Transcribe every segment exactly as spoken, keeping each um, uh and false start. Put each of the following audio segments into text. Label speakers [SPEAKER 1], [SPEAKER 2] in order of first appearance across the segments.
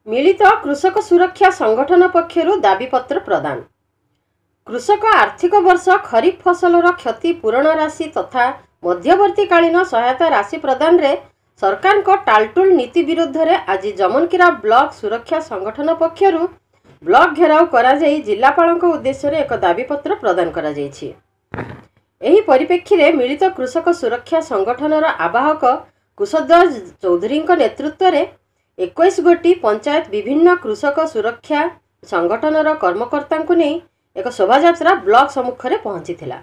[SPEAKER 1] ମିଳିତ କୃଷକ ସୁରକ୍ଷା ସଂଗଠନ ପକ୍ଷରୁ ଦାବିପତ୍ର ପ୍ରଦାନ। କୃଷକ ଆର୍ଥିକ ବର୍ଷ ଖରିଫ ଫସଲର କ୍ଷତି ପୂରଣ ରାଶି ତଥା ମଧ୍ୟବର୍ତ୍ତୀକାଳୀନ ସହାୟତା ରାଶି ପ୍ରଦାନରେ ସରକାରଙ୍କ ଟାଲଟୁଲ ନୀତି ବିରୁଦ୍ଧରେ ଆଜି ଜମନକିରା ବ୍ଲକ ସୁରକ୍ଷା ସଂଗଠନ ପକ୍ଷରୁ ବ୍ଲକ ଘେରାଉ କରାଯାଇ ଜିଲ୍ଲାପାଳଙ୍କ ଉଦ୍ଦେଶ୍ୟରେ ଏକ ଦାବିପତ୍ର ପ୍ରଦାନ କରାଯାଇଛି। ଏହି ପରିପ୍ରେକ୍ଷୀରେ ମିଳିତ କୃଷକ ସୁରକ୍ଷା ସଂଗଠନର ଆବାହକ କୁଶଧ୍ୱଜ ଚୌଧୁରୀଙ୍କ ନେତୃତ୍ୱରେ ଏକୋଇଶ ଗୋଟି ପଞ୍ଚାୟତ ବିଭିନ୍ନ କୃଷକ ସୁରକ୍ଷା ସଂଗଠନର କର୍ମକର୍ତ୍ତାଙ୍କୁ ନେଇ ଏକ ଶୋଭାଯାତ୍ରା ବ୍ଲକ ସମ୍ମୁଖରେ ପହଞ୍ଚିଥିଲା।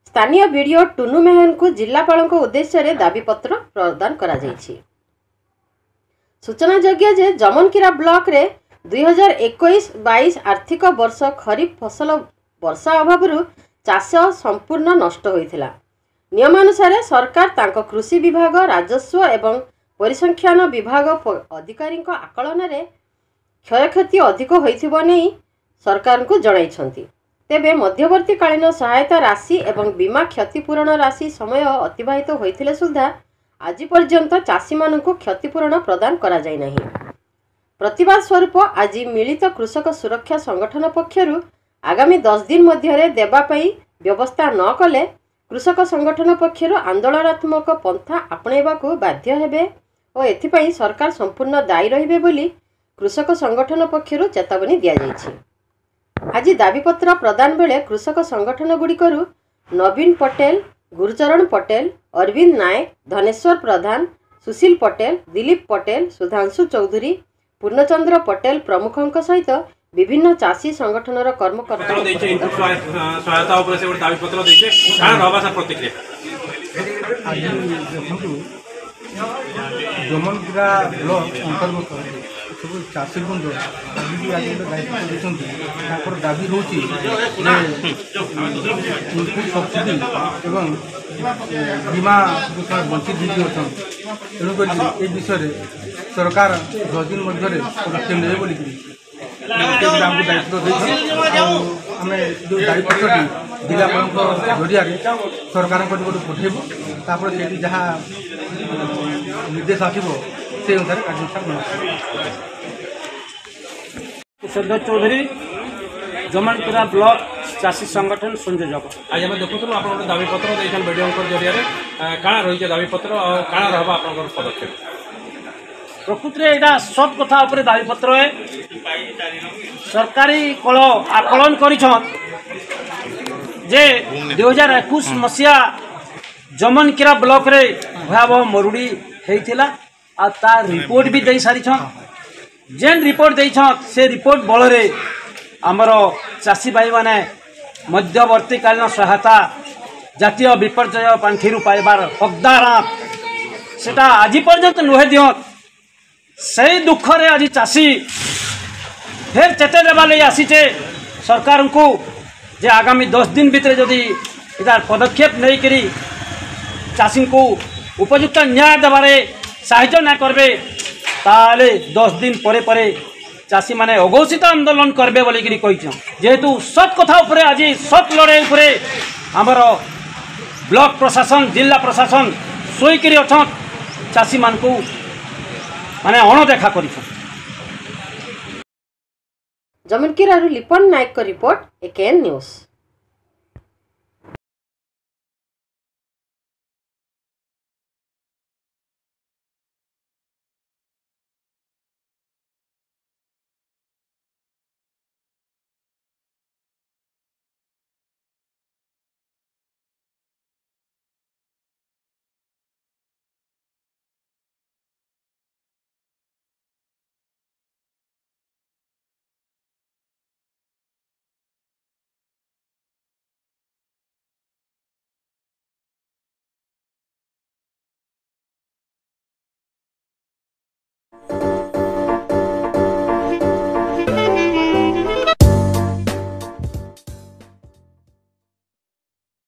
[SPEAKER 1] ସ୍ଥାନୀୟ ବିଡ଼ିଓ ଟୁନୁ ମେହେରଙ୍କୁ ଜିଲ୍ଲାପାଳଙ୍କ ଉଦ୍ଦେଶ୍ୟରେ ଦାବିପତ୍ର ପ୍ରଦାନ କରାଯାଇଛି। ସୂଚନାଯୋଗ୍ୟ ଯେ ଜମନକିରା ବ୍ଲକରେ ଦୁଇହଜାର ଏକୋଇଶ ବାଇଶ ଆର୍ଥିକ ବର୍ଷ ଖରିଫ ଫସଲ ବର୍ଷା ଅଭାବରୁ ଚାଷ ସମ୍ପୂର୍ଣ୍ଣ ନଷ୍ଟ ହୋଇଥିଲା। ନିୟମାନୁସାରେ ସରକାର ତାଙ୍କ କୃଷି ବିଭାଗ, ରାଜସ୍ୱ ଏବଂ ପରିସଂଖ୍ୟାନ ବିଭାଗ ଅଧିକାରୀଙ୍କ ଆକଳନରେ କ୍ଷୟକ୍ଷତି ଅଧିକ ହୋଇଥିବା ନେଇ ସରକାରଙ୍କୁ ଜଣାଇଛନ୍ତି। ତେବେ ମଧ୍ୟବର୍ତ୍ତୀକାଳୀନ ସହାୟତା ରାଶି ଏବଂ ବୀମା କ୍ଷତିପୂରଣ ରାଶି ସମୟ ଅତିବାହିତ ହୋଇଥିଲେ ସୁଦ୍ଧା ଆଜି ପର୍ଯ୍ୟନ୍ତ ଚାଷୀମାନଙ୍କୁ କ୍ଷତିପୂରଣ ପ୍ରଦାନ କରାଯାଇନାହିଁ। ପ୍ରତିବାଦ ସ୍ୱରୂପ ଆଜି ମିଳିତ କୃଷକ ସୁରକ୍ଷା ସଂଗଠନ ପକ୍ଷରୁ ଆଗାମୀ ଦଶ ଦିନ ମଧ୍ୟରେ ଦେବା ପାଇଁ ବ୍ୟବସ୍ଥା ନ କଲେ କୃଷକ ସଂଗଠନ ପକ୍ଷରୁ ଆନ୍ଦୋଳନାତ୍ମକ ପନ୍ଥା ଆପଣେଇବାକୁ ବାଧ୍ୟ ହେବେ ଓ ଏଥିପାଇଁ ସରକାର ସମ୍ପୂର୍ଣ୍ଣ ଦାୟୀ ରହିବେ ବୋଲି କୃଷକ ସଂଗଠନ ପକ୍ଷରୁ ଚେତାବନୀ ଦିଆଯାଇଛି। ଆଜି ଦାବିପତ୍ର ପ୍ରଦାନ ବେଳେ କୃଷକ ସଂଗଠନଗୁଡ଼ିକରୁ ନବୀନ ପଟେଲ, ଗୁରୁଚରଣ ପଟେଲ, ଅରବିନ୍ଦ ନାୟକ, ଧନେଶ୍ୱର ପ୍ରଧାନ, ସୁଶୀଲ ପଟେଲ, ଦିଲୀପ ପଟେଲ, ସୁଧାଂଶୁ ଚୌଧୁରୀ, ପୂର୍ଣ୍ଣଚନ୍ଦ୍ର ପଟେଲ ପ୍ରମୁଖଙ୍କ ସହିତ ବିଭିନ୍ନ ଚାଷୀ ସଂଗଠନର କର୍ମକର୍ତ୍ତା
[SPEAKER 2] ଦେଇଛେ। ଇନପୁଟ ସହାୟତା ଉପରେ ସେ ଗୋଟେ ଦାବିପତ୍ର ଦେଇଛେ, କାଣା ରହବା ସାର୍ ପ୍ରତିକ୍ରିୟା?
[SPEAKER 3] ଆଜି ଦେଖନ୍ତୁ, ଜମନକିରା ବ୍ଲକ ଅନ୍ତର୍ଗତ ସବୁ ଚାଷୀବୃନ୍ଦ ଆଜି ବି ଆଜି ଗୋଟେ ଦାୟିତ୍ୱ ଦେଇଛନ୍ତି। ତାଙ୍କର ଦାବି ହେଉଛି ଯେ ଇନପୁଟ ସବସିଡି ଏବଂ ବୀମା ଯେଉଁ ସେମାନେ ବଞ୍ଚିତ ହେଇକି ଅଛନ୍ତି, ତେଣୁକରି ଏ ବିଷୟରେ ସରକାର ଦଶ ଦିନ ମଧ୍ୟରେ ପଦକ୍ଷେପ ନେବେ ବୋଲିକିରି ଆମକୁ ଦାୟିତ୍ୱ ଦେଇଛନ୍ତି। ଆଉ ଆମେ ଯେଉଁ ଦାବିପତ୍ରଟି ଜିଲ୍ଲାପାଳଙ୍କ ଜରିଆରେ ସରକାରଙ୍କ ନିକଟକୁ ପଠାଇବୁ, ତାପରେ ସେଇଠି ଯାହା ନିର୍ଦ୍ଦେଶ ଆସିବ ସେଇ ଅନୁସାରେ କାର୍ଯ୍ୟାନୁଷ୍ଠାନ ଗ୍ରହଣ କରିବୁ।
[SPEAKER 4] କୁଶଧ୍ୱଜ ଚୌଧୁରୀ, ଜମନକିରା ବ୍ଲକ ଚାଷୀ ସଂଗଠନ ସଂଯୋଜକ।
[SPEAKER 2] ଆଜି ଆମେ ଦେଖୁଥିଲୁ ଆପଣ ଗୋଟେ ଦାବିପତ୍ର ଦେଇଛନ୍ ବିଡ଼ିଓଙ୍କ ଜରିଆରେ, କାଣା ରହିছে ଦାବିପତ୍ର ଆଉ କାଣା ରହିବ ଆପଣଙ୍କର ପଦକ୍ଷେପ?
[SPEAKER 4] ପ୍ରକୃତରେ ଏଇଟା ସତ୍ କଥା ଉପରେ ଦାବିପତ୍ର। ସରକାରୀ କଳ ଆକଳନ କରିଛନ୍ ଯେ ଦୁଇ ହଜାର ଏକୋଇଶ ମସିହା ଜମନକିରା ବ୍ଲକରେ ଭୟାବହ ମରୁଡ଼ି ହେଇଥିଲା, ଆଉ ତା ରିପୋର୍ଟ ବି ଦେଇ ସାରିଛନ୍। ଯେନ୍ ରିପୋର୍ଟ ଦେଇଛନ୍ ସେ ରିପୋର୍ଟ ବଳରେ ଆମର ଚାଷୀ ଭାଇମାନେ ମଧ୍ୟବର୍ତ୍ତୀକାଳୀନ ସହାୟତା ଜାତୀୟ ବିପର୍ଯ୍ୟୟ ପାଣ୍ଠିରୁ ପାଇବାର ହକଦାର, ସେଟା ଆଜି ପର୍ଯ୍ୟନ୍ତ ନୁହେଁ ଦିଅନ୍। ସେଇ ଦୁଃଖରେ ଆଜି ଚାଷୀ ଫେର୍ ଚେତେଇ ଦେବା ଲାଗି ଆସିଛେ ସରକାରଙ୍କୁ ଯେ ଆଗାମୀ ଦଶ ଦିନ ଭିତରେ ଯଦି ଏଟାର ପଦକ୍ଷେପ ନେଇକରି ଚାଷୀଙ୍କୁ ଉପଯୁକ୍ତ ନ୍ୟାୟ ଦେବାରେ ସାହାଯ୍ୟ ନା କରିବେ, ତାହେଲେ ଦଶ ଦିନ ପରେ ପରେ ଚାଷୀମାନେ ଅଘୋଷିତ ଆନ୍ଦୋଳନ କରିବେ ବୋଲିକିରି କହିଛନ୍। ଯେହେତୁ ସତ୍ କଥା ଉପରେ ଆଜି ସତ୍ ଲଢ଼େଇ ଉପରେ ଆମର ବ୍ଲକ ପ୍ରଶାସନ, ଜିଲ୍ଲା ପ୍ରଶାସନ ଶୋଇକିରି ଅଛନ୍, ଚାଷୀମାନଙ୍କୁ ମାନେ ଅଣଦେଖା କରିଛନ୍।
[SPEAKER 1] ଜମନକିରାରୁ ଲିପନ ନାୟକଙ୍କ ରିପୋର୍ଟ, ଏକେଏନ୍ ନ୍ୟୁଜ୍।